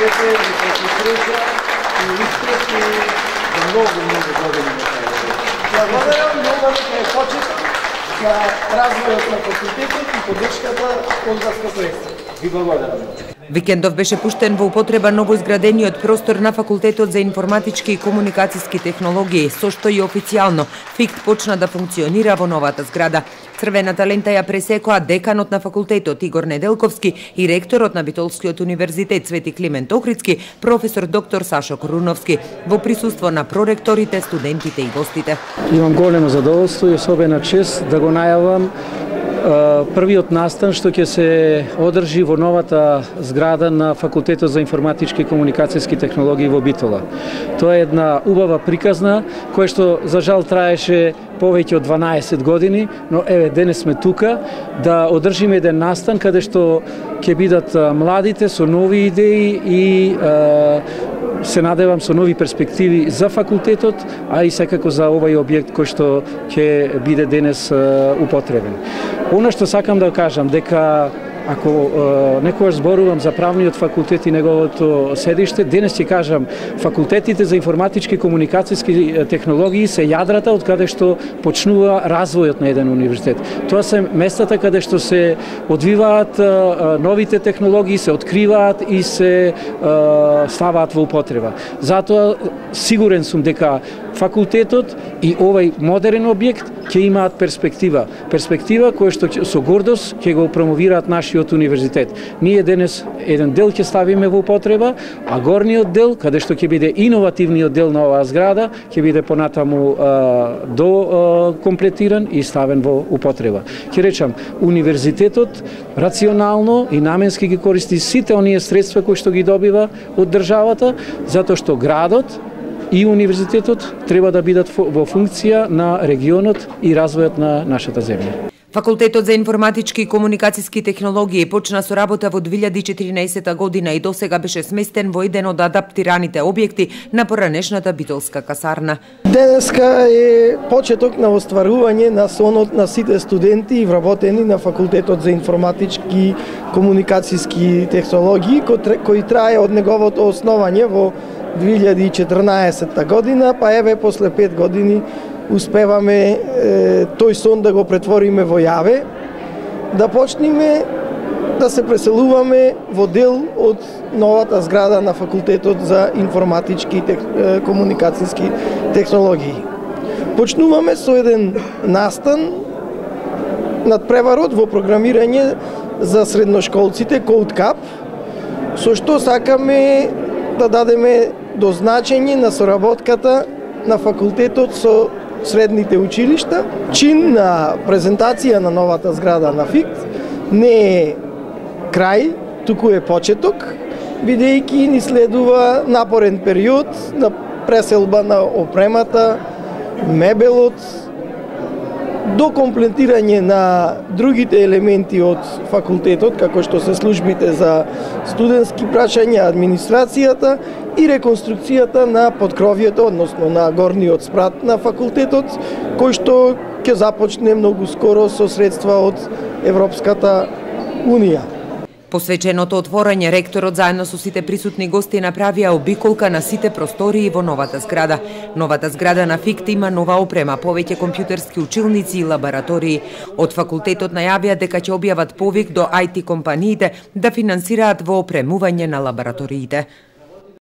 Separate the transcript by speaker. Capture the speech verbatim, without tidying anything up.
Speaker 1: здравјето, висока среќа и успех и за многу, многу години на крај. Благодарам многу е почеток за развојот на факултетот и поддршката од Васкапоеста. Ви благодарам.
Speaker 2: Викендов беше пуштен во употреба новоизградениот простор на Факултетот за информатички и комуникацијски технологии, со што и официјално ФИКТ почна да функционира во новата зграда. Црвената лента ја пресекоа деканот на факултетот Игор Неделковски и ректорот на Битолскиот универзитет Свети Климент Охридски, професор доктор Сашо Коруновски, во присуство на проректорите, студентите и гостите.
Speaker 3: Имам големо задоволство и особена чест да го најавам првиот настан што ќе се одржи во новата зграда на Факултетот за информатички и комуникацијски технологии во Битола. Тоа е една убава приказна која што за жал траеше повеќе од дванаесет години, но еве денес сме тука да одржиме еден настан каде што ќе бидат младите со нови идеи и се надевам со нови перспективи за факултетот, а и секако за овој објект кој што ќе биде денес употребен. Она што сакам да кажам дека ако е, некојаш зборувам за правниот факултет и неговото седиште, денес ќе кажам факултетите за информатички и комуникацијски технологии се јадрата од каде што почнува развојот на еден универзитет. Тоа се местата каде што се одвиваат е, новите технологии, се откриваат и се е, ставаат во употреба. Затоа сигурен сум дека факултетот и овој модерен објект ќе имаат перспектива. Перспектива која што со гордост ќе го промовираат нашиот универзитет. Ние денес еден дел ќе ставиме во употреба, а горниот дел, каде што ќе биде иновативниот дел на оваа зграда, ќе биде понатаму а, до а, комплетиран и ставен во употреба. Ќе речам, универзитетот рационално и наменски ги користи сите оние средства кои што ги добива од државата, затоа што градот и универзитетот треба да бидат во функција на регионот и развојот на нашата земја.
Speaker 2: Факултетот за информатички и комуникацијски технологии почна со работа во две илјади и четиринаесета година и досега беше сместен во еден од адаптираните објекти на поранешната битолска касарна.
Speaker 1: Денеска е почеток на остварување на сонот на сите студенти и вработени на Факултетот за информатички и комуникацијски технологии, кој трае од неговото основање во две илјади и четрнаесета година, па еве после пет години успеваме е, тој сон да го претвориме во јаве, да почнеме да се преселуваме во дел од новата зграда на Факултетот за информатички и тех, е, комуникацијски технологии. Почнуваме со еден настан над преварот во програмирање за средношколците CodeCap, со што сакаме да дадеме дозначење на соработката на факултетот со средните училишта. Чин на презентација на новата зграда на ФИКТ не е крај, туку е почеток, бидејќи ни следува напорен период на преселба на опремата, мебелот, до комплетирање на другите елементи од факултетот, како што се службите за студентски прашања, администрацијата и реконструкцијата на подкровјето, односно на горниот спрат на факултетот, кој што ќе започне многу скоро со средства од Европската Унија.
Speaker 2: Посвеченото отворање, ректорот заедно со сите присутни гости направија обиколка на сите простории во новата зграда. Новата зграда на ФИКТ има нова опрема, повеќе компјутерски училници и лаборатории. Од факултетот најавија дека ќе објават повик до ај ти компаниите да финансираат во опремување на лабораториите.